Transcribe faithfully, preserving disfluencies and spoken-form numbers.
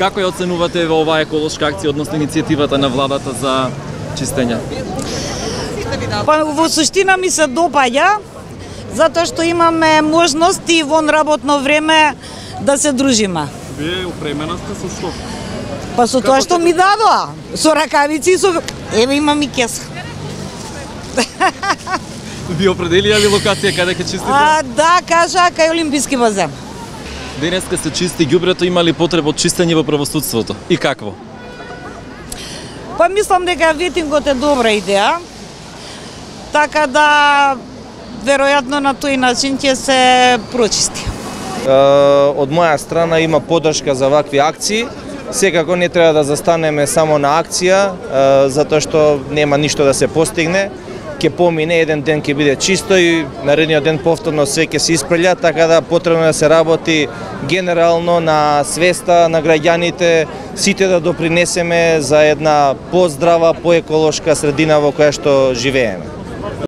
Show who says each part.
Speaker 1: Како ја оценувате во оваа еколошка акција, односно иницијативата на владата за чистење?
Speaker 2: Па во суштина ми се допаѓа, затоа што имаме можности вон работно време да се дружиме.
Speaker 1: Вие опремена сте со што?
Speaker 2: Па со тоа што ми дадоа, со ракавици и со... Еве имам и кеса.
Speaker 1: Ви определија ли локација каде ќе чистите?
Speaker 2: А, да, кажа, кај Олимписки базен.
Speaker 1: Денеска се чисти ѓубрето, има ли потреба од чистење во правосудството? И какво?
Speaker 2: Па мислам дека ветингот е добра идеја, така да веројатно на тој начин ќе се прочисти.
Speaker 3: Од моја страна има поддршка за вакви акции. Секако не треба да застанеме само на акција, затоа што нема ништо да се постигне. Ќе помине, еден ден ќе биде чисто и наредниот ден повторно се ќе се испрелја, така да потребно да се работи генерално на свеста на граѓаните, сите да допринесеме за една поздрава, поеколошка средина во која што живееме.